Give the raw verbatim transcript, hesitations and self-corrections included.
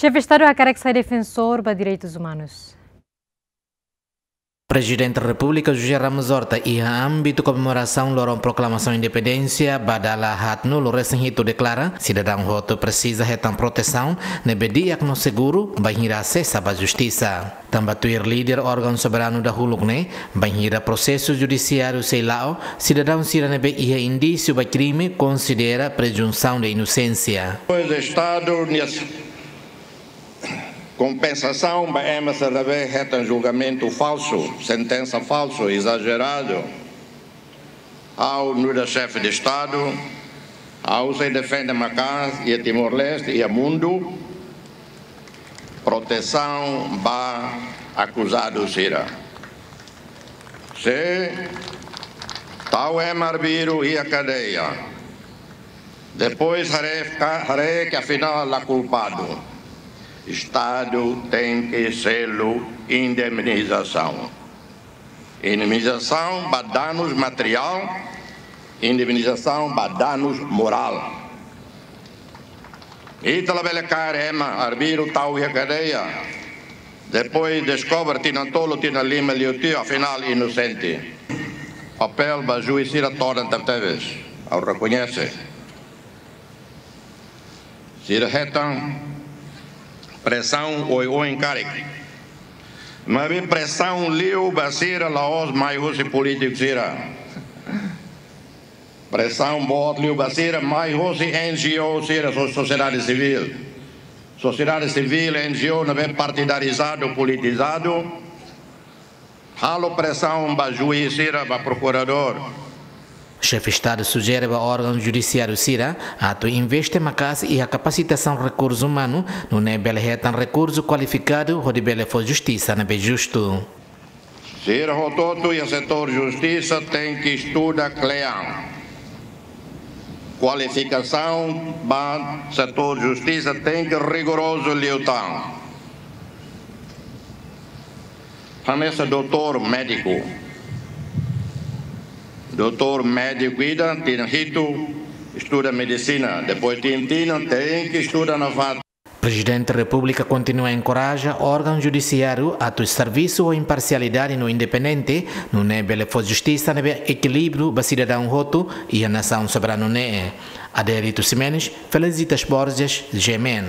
Xefe Estadu hakarak sai defensór ba direitus umanus. Prezidente Repúblika José Ramos Horta iha ámbitu komemorasaun loron proklamasaun independénsia ba dala haatnulu resin hitu deklara, sidadaun hotu presiza hetan protesaun ne'ebé di'ak no seguru bainhira asesa ba justisa. Tanba tuir líder órgaun soberanu dahuluk ne'e, bainhira prosesu judisiáriu sei la'o, sidadaun sira ne'ebé iha indísiu ba krime konsidera prezunsaun de inosénsia. Pois Estadu nia kompensasaun ba ema sira ne'ebé hetan julgamentu falsu, sentensa falsu, ezajeradu. Ha'u nu'udar Xefe de Estadu, ha'u sei defende maka'as iha Timor-Leste, iha mundu, protesaun ba akuzadu sira. Se tau ema arbiru iha kadeia, depois haree ka-, haree ke afinál la kulpadu, Estadu tenke selu indemnizasaun. Indemnizasaun ba danus materiál, indemnizasaun ba danus morál. Ita labele kaer ema arbiru tau iha kadeia, depois deskobre tinan tolu, tinan lima liu tiha, afinál inosente. Papél ba juís sira todan tebetebes, ha'u rekoñese. Sira hetan presaun oioin karik. Maibé presaun liu ba sira la'ós mai husi polítiku sira. Presaun boot liu ba sira mai husi N G O sira, so-, sosiedade sivíl. Sosiedade sivíl, N G O ne'ebé partidarizadu, politizadu, halo presaun ba juís sira, ba prokuradór. Xefe Estadu sujere ba órgaun judisiáriu sira atu investe maka'as iha kapasitasaun rekursu umanu, nune'e bele hetan rekursu kualifikadu hodi bele fó justisa ne'ebé justu. Sira hotu-hotu iha setór justisa tenke estuda kle'an. Kualifikasaun ba setór justisa tenke rigorozu liután. Hanesan doutór médiku. Doutór médiku ida tinan hitu estuda medisina, depois tinan, tinan tenke estuda nafatin. Prezidente Repúblika kontinua enkoraja órgaun judisiáriu atu servisu ho imparsialidade no independente, nune'e bele fó justisa ne'ebé ekilíbriu ba sidadaun hotu iha nasaun soberanu ne'e. Adelito Ximenes, Felicitas Borges, G M N.